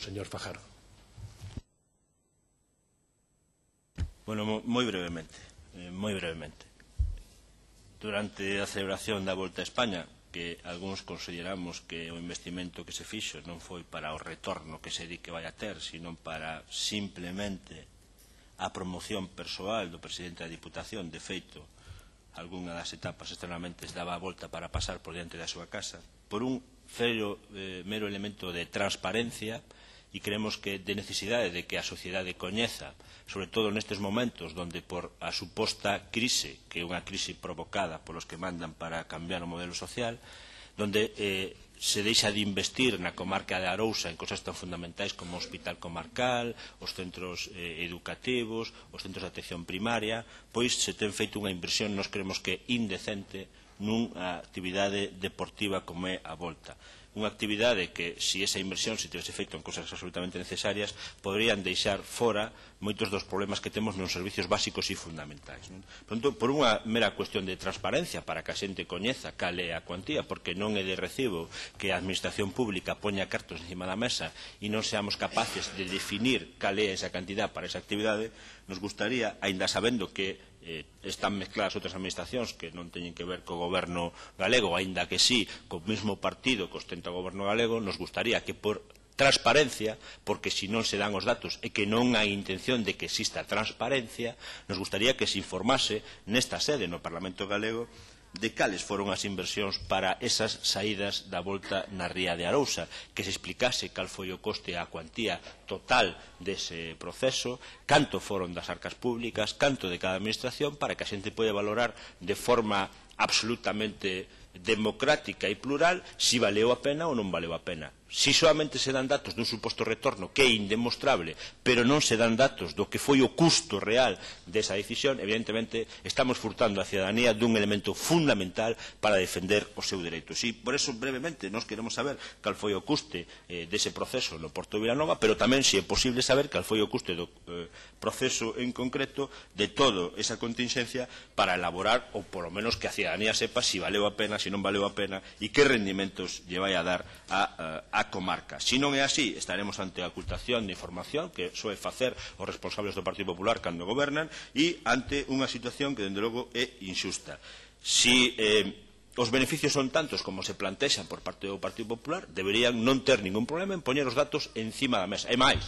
Señor Fajardo. Bueno, moi brevemente. Durante a celebración da Volta a España, que algúns consideramos que o investimento que se fixo non foi para o retorno que se di que vai a ter, sino para simplemente a promoción persoal do presidente da Diputación. De feito, algunha das etapas externamente daba a volta para pasar por diante da súa casa, por un mero elemento de transparencia, e creemos que de necesidade de que a sociedade coñeza, sobre todo nestes momentos onde por a suposta crise, que é unha crise provocada polos que mandan para cambiar o modelo social, onde se deixa de investir na comarca de Arousa en cosas tan fundamentais como o hospital comarcal, os centros educativos, os centros de atención primaria, pois se ten feito unha inversión, nós creemos que indecente, nunha actividade deportiva como é a Volta. Unha actividade que, se esa inversión se tivese feito en cosas absolutamente necesarias, poderían deixar fora moitos dos problemas que temos nos servicios básicos e fundamentais. Por unha mera cuestión de transparencia, para que a xente coñeza cal é a cuantía, porque non é de recibo que a administración pública poña cartos encima da mesa e non seamos capaces de definir cal é esa cantidad para esa actividade, nos gustaría, aínda sabendo que están mezcladas outras administracións que non teñen que ver co goberno galego, aínda que sí, co mesmo partido que ostenta o goberno galego, nos gustaría que por transparencia, porque se non se dan os datos e que non hai intención de que exista transparencia, nos gustaría que se informase nesta sede no Parlamento galego de cales foron as inversións para esas saídas da Volta na ría de Arousa, que se explicase cal foi o coste a cuantía total dese proceso, canto foron das arcas públicas, canto de cada administración, para que a xente poida valorar de forma absolutamente democrática e plural si valeu a pena ou non valeu a pena. Si solamente se dan datos dun suposto retorno que é indemostrable, pero non se dan datos do que foi o custo real desa decisión, evidentemente estamos furtando a cidadanía dun elemento fundamental para defender os seus dereitos. E por eso, brevemente, nós queremos saber cal foi o custe dese proceso no Porto de Vilanova, pero tamén, se é posible, saber cal foi o custe do proceso en concreto de toda esa contingencia para elaborar, ou polo menos que a cidadanía sepa si valeu a pena, si non valeu a pena e que rendimentos lle vai a dar a comarca. Se non é así, estaremos ante a ocultación de información que soe facer os responsables do Partido Popular cando gobernan e ante unha situación que, dende logo, é injusta. Se os beneficios son tantos como se plantexan por parte do Partido Popular, deberían non ter ningún problema en poñer os datos encima da mesa. E máis,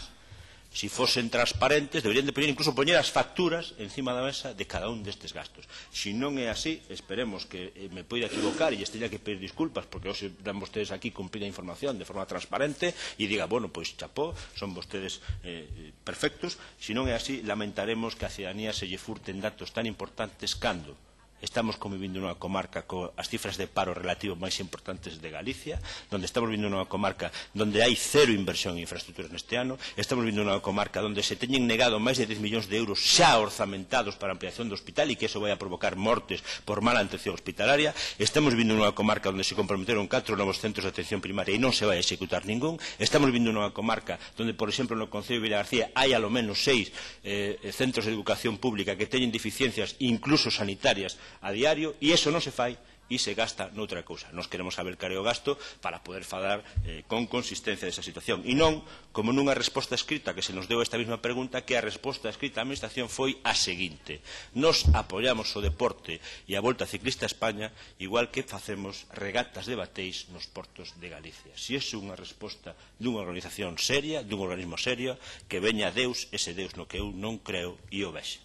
se fosen transparentes, deberían de incluso poñer as facturas encima da mesa de cada un destes gastos. Se non é así, esperemos que me poida equivocar e lles teña que pedir disculpas, porque hoxe dan vostedes aquí cumprida información de forma transparente e diga, bueno, pois chapó, son vostedes perfectos. Se non é así, lamentaremos que a cidadanía se lle furten datos tan importantes cando estamos convivindo nunha comarca coas cifras de paro relativo máis importantes de Galicia, onde estamos vivindo nunha comarca onde hai cero inversión en infraestructuras neste ano, estamos vivindo nunha comarca onde se teñen negado máis de 10 millóns de euros xa orzamentados para a ampliación do hospital e que eso vai a provocar mortes por mala atención hospitalaria, estamos vivindo nunha comarca onde se comprometeron 4 novos centros de atención primaria e non se vai a executar ningún, estamos vivindo nunha comarca onde, por exemplo, no Concello de Vilagarcía hai alo menos 6 centros de educación pública que teñen deficiencias incluso sanitarias a diario, e iso non se fai e se gasta noutra cousa. Nós queremos saber cal é o gasto para poder falar con consistencia desa situación. E non como nunha resposta escrita que se nos deu esta mesma pregunta, que a resposta escrita da administración foi a seguinte: nos apoiamos o deporte e a Volta Ciclista a España igual que facemos regatas de bateis nos portos de Galicia. Se é unha resposta dunha organización seria, dun organismo serio, que veña Deus, ese Deus no que eu non creo e o vexe.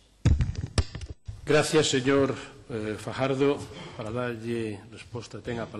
Gracias, señor Fajardo. Para darlle resposta, ten a palabra.